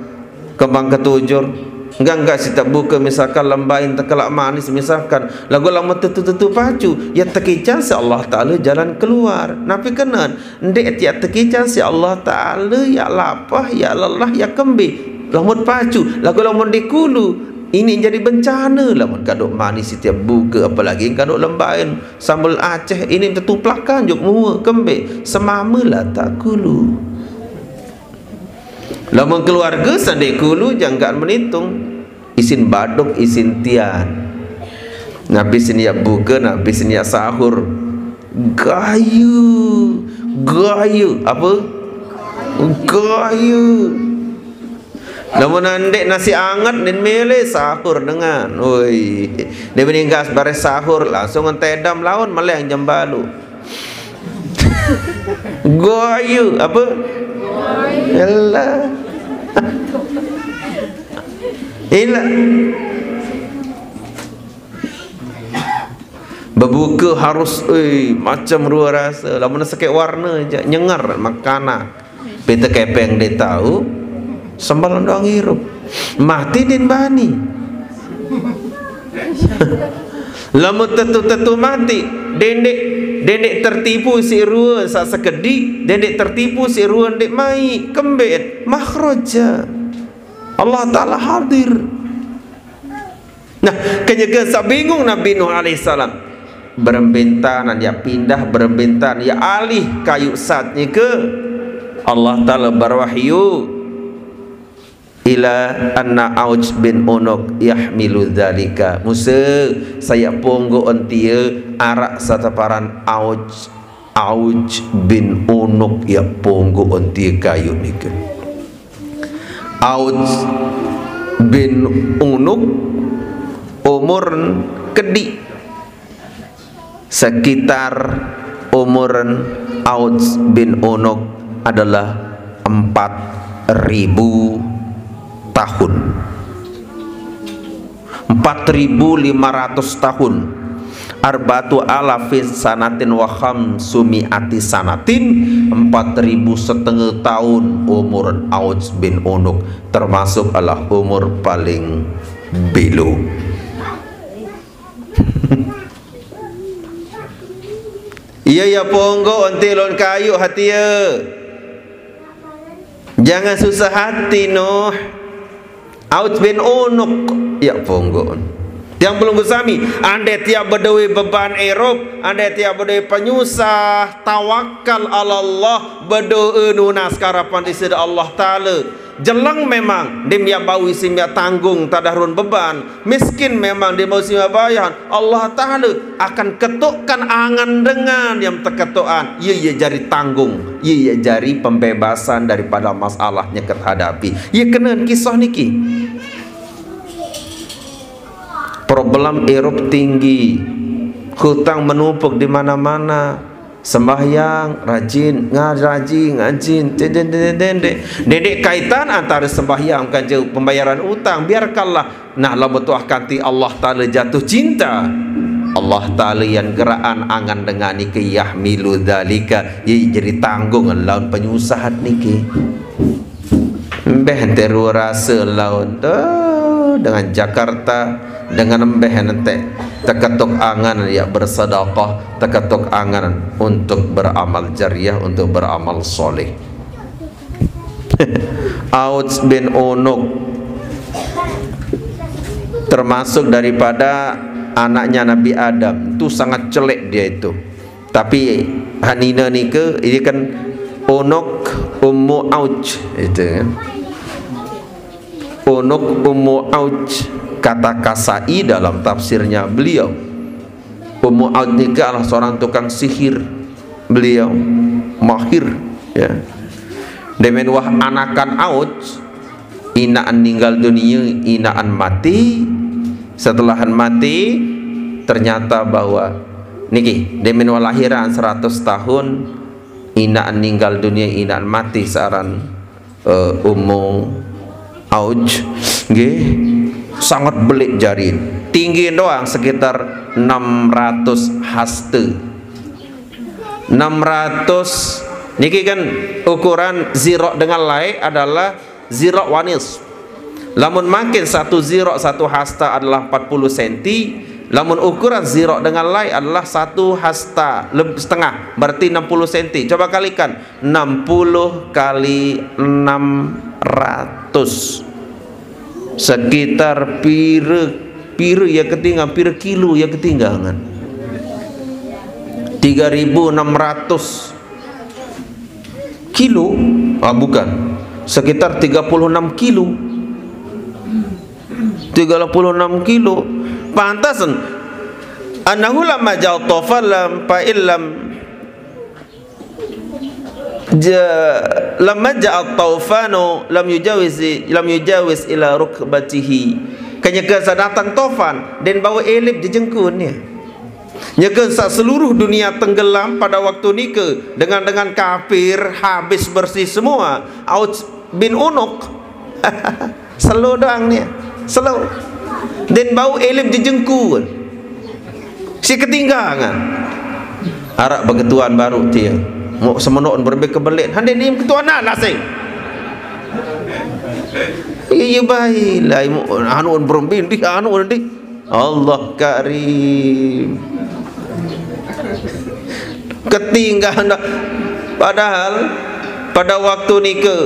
kembang ketujur. Enggak, enggak sitiap buke, misalkan, lembain tekelaq manis, misalkan. Laguq lamun tetu-tetu pacu, ya tekican siq Allah Taala jalan keluar. Napi kenen? Ndeq tiaq tekican siq Allah Taala, ya lapah, ya lelah, ya kembe. Lamun pacu, laguq lamun dikulu, ini jadi bencane. Lamun kadu manis sitiap buke, apalagi kadu lembain. Sambel Aceh ini tetuplakan juk mua kembe, semame la takulu. Lamun keluarge saq ndeq kulu jangkaan menitung. Isin baduk, isin tian. Napi sin yaq buke, napi sin yaq sahur. Gayu, gayu, apa? Gayu. Lamun ndeq nasi anget, nin mele sahur dengan. Woi, ndeq meninggas bareh sahur, langsung entedam laun meleng jam balu. Goyu, apa? Elah. Elah. Bebuke harus, eh, macem rue rase. Lamun sekeq warne jaq, nyengar makanan. Pite kepeng ndeq tao, sembel doang irup. Mati ndeq bani. Lamun tetu-tetu mati, dendeq, dendeq tertipu siq rue saq sekediq, dendeq tertipu siq rue ndeq maiq, kembeq? Makhraja. Allah Taala hadir. Nah, kenyeke saq bingung Nabi Nuh alaihissalam. Berembe ntan yaq pindah, berembe ntan yaq alih kayuq sat nike. Allah Taala berwahyu, "Ila anna Auj bin Unuk yahmilu dzalika." Muse, sai yaq ponggoqn tie araq saq teparan Auj, Auj bin Unuk yaq ponggoqn tie kayuq nike. Auj bin Unuk umurn kediq. Sekitar umurn Auj bin Unuk adalah empat ribu tahun. Empat ribu lima ratus tahun. Arba'atu alafin sanatin wa khamsumi'ati sanatin, empat ribu setenge taun umur Auj bin Unuk, termasuk adalah umur paling belo. Ie yaq ponggoqn tie lon kayuq hati ie. Jangan susah hati, Nuh. Auj bin Unuk yaq ponggoqn. Tiang pelungguh sami, andai tiang bedoe beban irup, andai tiang bedoe penyusah, tawakal alallah, bedoe nunas karapan Deside Allah Taala. Jeleng memang, ndeqm yaq bau isin yaq tanggung tadah ruen beban. Miskin memang, ndeqm bau isin yaq bayahan. Allah Taala akan ketoqkan angen dengan yaq teketoqan. Ie, ie jari tanggung. Ie, ie jari pembebasan daripada masalah nyeket hadapi. Ie kenen kisah niki. Problem irup tinggi. Hutang menumpuk di mana-mana. Sembahyang rajin, nga-, rajin ngaji. Dendek kaitan antara sembahyang kance pembayaran utang. Biarkanlah. Nah, lamun tuah kanti Allah Taala jatuh cinta, Allah Taala yan geraan angan dengan niki, yahmilu dzalika, ye jadi tanggung lawan penyusahan niki. Embeh ente rasa lawan tu dengan Jakarta, dengan embeh ente teketuk angan ya bersedekah, teketuk angan untuk beramal jariah, untuk beramal soleh. Auj bin Unuk termasuk daripada anaknya Nabi Adam. Itu sangat celek dia itu. Tapi hanina nika, ini kan Unuk Ummu Auj itu kan. Unuk Ummu Auj, kata Kasai dalam tafsirnya beliau. Ummu Auj nika adalah seorang tukang sihir. Beliau mahir, ya. Demen wah anakan Auj, inaan ninggal dunia, inaan mati. Setelah mati, ternyata bahwa niki, demen wah lahiran seratus tahun, inaan ninggal dunia, inaan mati searan eh, Ummu Auj, nggih, sangat belik jarin. Tinggi doang sekitar enam ratus hasta. Enam ratus niki kan ukuran zirok dengan lai adalah zirok wanis. Lamun makin satu zirok satu hasta adalah empat puluh senti, lamun ukuran zirok dengan lai adalah satu hasta leb-, setengah, berarti enam puluh senti. Coba kalikan, enam puluh kali enam ratus. Sekitar pira, pira ya ketinggalan, pira kilo ya ketinggalan? Tiga ribu enam ratus kilo? Ah, bukan. Sekitar tiga puluh enam kilo. Tiga puluh enam kilo. Pantas. Annahu lamma ja'a tawfan lam, fa illam ja-, lamma ja'a taufanu lam yujawiz, lam yujawiz ila rukbatihi. Kenyeke sa datang tofan, den bawa elip jejengkun ya. Nyeke sa seluruh dunia tenggelam pada waktu nike dengan, dengan kafir habis bersih semua. Auj bin Unuk. Selo doang nih. Selo. Den bau elip jejengkun. Si ketinggangan. Arak beketuan baru tia. Mau semenok berembe kebelit. Hande ni ketuan nak nasing. Iya, iya, baiklah. Mau anu berembe di, anu di. Allah Karim. Ketinggangan. Padahal pada waktu nike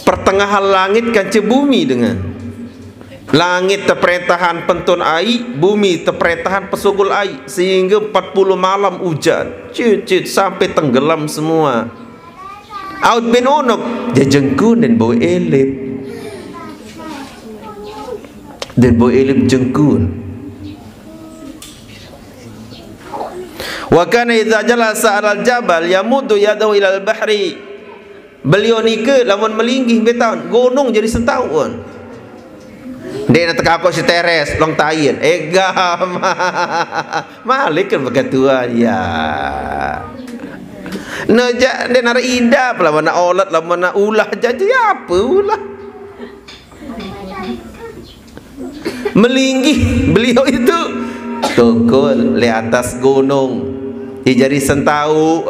pertengahan langit kance bumi dengan. Langit teperetahan pentun ai, bumi teperetahan pesugul ai, sehingga empat puluh malam hujan. Cut, cut, sampai tenggelam semua. Auj bin Unuk, jejengkun dan bau elip. Dan bau elip jengkun. Wa kana idza jalasa 'alal jabal yamuddu yadahu ilal bahri. Beliau nike lamun melinggih betaun, gunung jadi sentaun. Dek nak teka aku si teres, long tain. Eh, gam. Malik kan begitu aja. Neja, dek nara idap, lamun nak olat, lamun nak ulah, jaja apa ulah. Melinggih beliau itu tukul di atas gunung. Ia jadi sentau.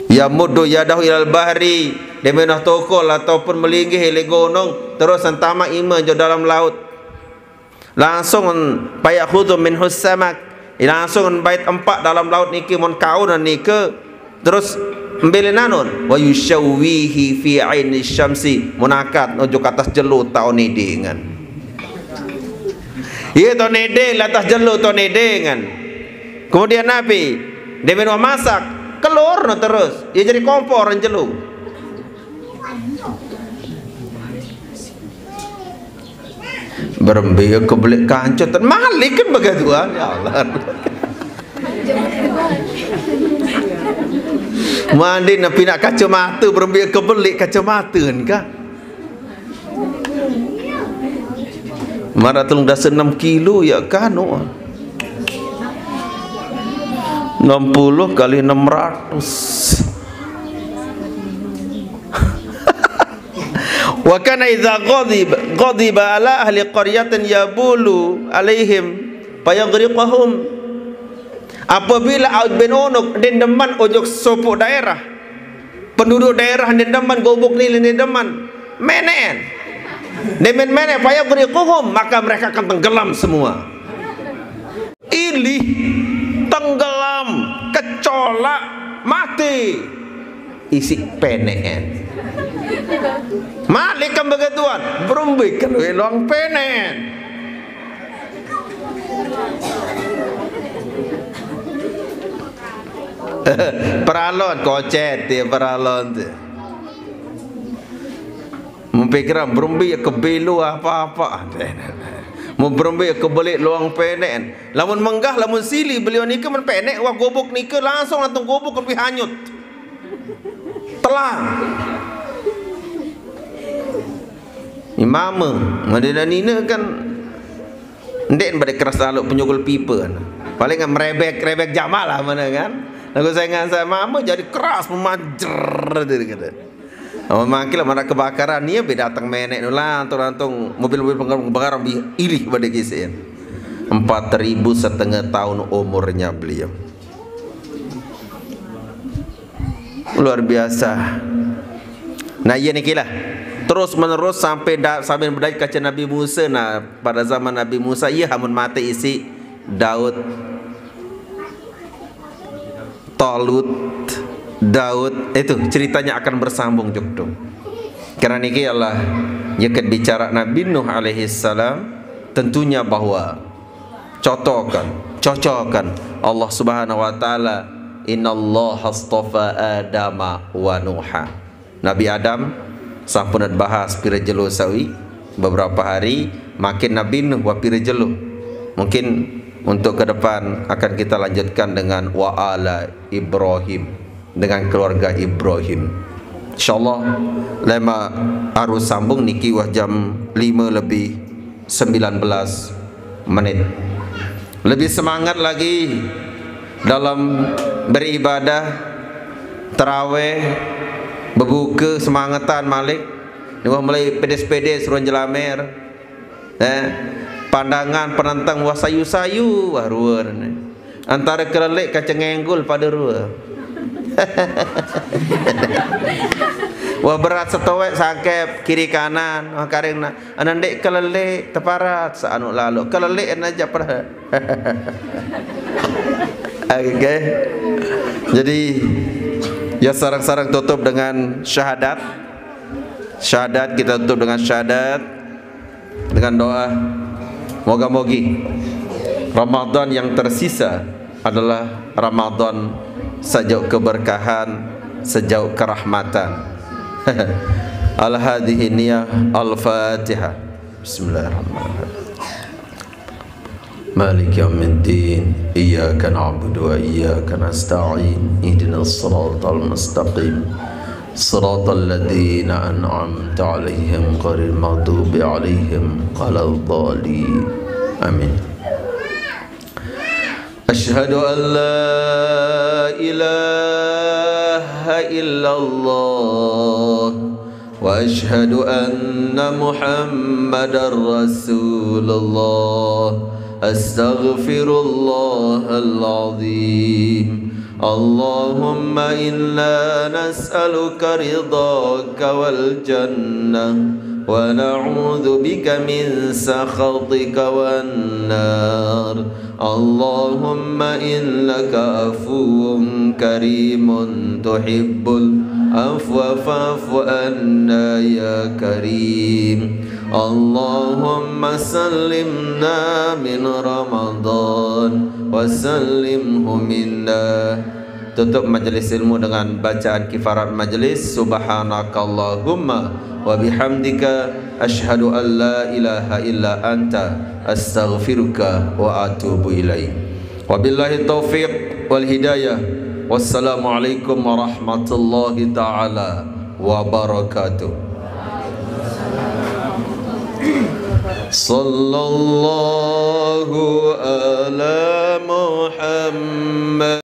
Yamuddu yadahu ilal bahri, dia menah tukul ataupun melinggih di gunung, terus sentama ima jo dalam laut. Langsung payakhudhu minhus samak. Langsung bait empak dalam laut niki mun kaun nike. Terus mbele nanun wa yusyawwihi fi aini syamsi, munakat nuju ke atas jelo tau nedengan. Iya, tau nedeng, atas jelo tau nedengan. Kemudian napi? Demen masak, kelur no terus. Ya jadi kompor jelo. Berembe kebelik kancut, malik kan begitu, ah, ya Allah. Mandi napi nak kacamata, berembe kebelik kacamata ni kah? Mara telung dasa enam kilo ya kan, oh. Enam puluh kali enam ratus. Wa kana idza ghadib, ghadiba ala ahli qaryatin yabulu alaihim fayaghriquhum. Apabila Aud bin Unuk dendeman ojok sopo daerah, penduduk daerah dendeman, gubuk nile dendeman, meneen. Demen mene fayaghriquhum, maka mereka akan tenggelam semua. Ilih, tenggelam, kecolak, mati. Isi peneen. Malik kan begituan, berumbikan luang peneen. Peralon kocet dia, peralon tu. Mempikiran berumbi ke belu apa-apa. Mau berumbi ke belik luang peneen. Lamun menggah, lamun sili beliau ni ke men penek, wah gubuk ni ke langsung langsung gubuk lebih hanyut. Telang. Imama, Madinah Nina kan ndek pada keras lalu penyugul pipa kan. Paling kan merebek, rebek jamal lah mana kan. Lagu saya ngan saya mama jadi keras memanjer dia kata. Amun mangkil mana kebakaran, ia be datang menek nu lantung-lantung mobil-mobil penggarung bi ilih pada kisin. Empat ribu setengah tahun umurnya beliau. Luar biasa. Nah, iya niki lah. Terus menerus sampai da, sampai berdaya kaca Nabi Musa. Nah, pada zaman Nabi Musa, iya hamun mate isi Daud, Talut, Daud, itu ceritanya akan bersambung jukdung. Karena niki Allah nyekat bicara Nabi Nuh alaihi salam, tentunya bahwa cocokan, cocokan Allah Subhanahu wa taala, "Innallaha astafa Adama wa Nuha." Nabi Adam sampun bahas pira jelo sawi, beberapa hari makin Nabi Nuh wa pira jelo. Mungkin untuk ke depan akan kita lanjutkan dengan wa ala Ibrahim, dengan keluarga Ibrahim. Insyaallah lema harus sambung niki wah jam lima lebih sembilan belas menit. Lebih semangat lagi dalam beribadah, terawih, berbuka, semangetan malik. Ni wah mulai pedes-pedes ruan jelamer. Eh, pandangan penentang wah sayu-sayu wah ruan ni. Antara kelelek kacang enggul pada rua. Wah berat setowek sangkep kiri kanan, wah karing nak. Anak dek kelelek teparat seanu lalu. Kelelek anak aja pernah. Oke. Jadi ya sarang-sarang tutup dengan syahadat. Syahadat kita tutup dengan syahadat. Dengan doa, moga-mogi Ramadan yang tersisa adalah Ramadan sejauh keberkahan, sejauh kerahmatan. Al-hadhihi niyah, Al-Fatihah. Bismillahirrahmanirrahim. Malik yaumiddin. Iyyaka na'budu wa iyyaka nasta'in. Ihdinas siratal mustaqim. Siratal ladzina an'amta 'alaihim ghairil maghdubi 'alaihim waladdallin. Amin. Asyhadu an la ilaha illallah wa asyhadu anna Muhammadar Rasulullah. Astaghfirullahal azim. Allahumma inna nas'aluka ridhaka wal jannah wa na'udzu bika min sakhatika wan nar. Allahumma innaka afuwun karimun tuhibbul afwa fa'fu anna ya karim. Allahumma sallimna min Ramadan wa sallimhu minna. Tutup majelis ilmu dengan bacaan kifarat majelis, subhanakallahumma wa bihamdika, asyhadu an la ilaha illa anta, astaghfiruka wa atubu ilaik. Wabillahi taufiq wal hidayah. Wassalamualaikum warahmatullahi taala wabarakatuh. Sallallahu ala Muhammad.